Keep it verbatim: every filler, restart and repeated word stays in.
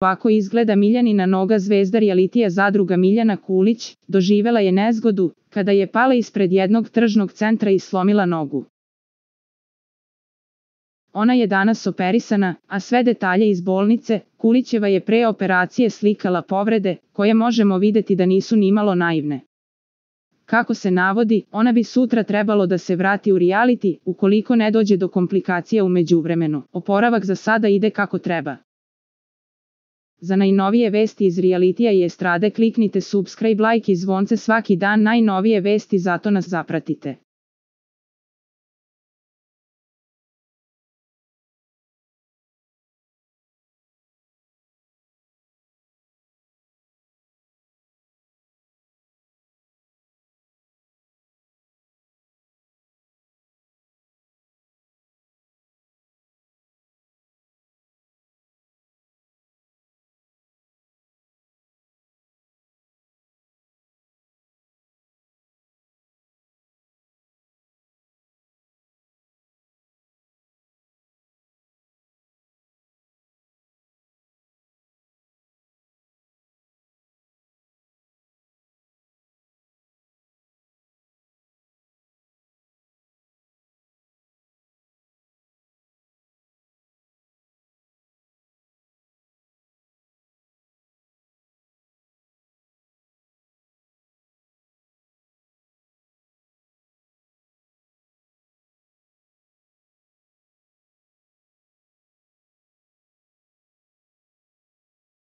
Ovako izgleda Miljanina noga. Zvezda realitija Zadruga Miljana Kulić doživela je nezgodu kada je pala ispred jednog tržnog centra i slomila nogu. Ona je danas operisana, a sve detalje iz bolnice. Kulićeva je pre operacije slikala povrede, koje možemo videti da nisu nimalo naivne. Kako se navodi, ona bi sutra trebalo da se vrati u reality, ukoliko ne dođe do komplikacija u međuvremenu. Oporavak za sada ide kako treba. Za najnovije vesti iz realitija i estrade kliknite subscribe, like i zvonce svaki dan. Najnovije vesti, zato nas zapratite.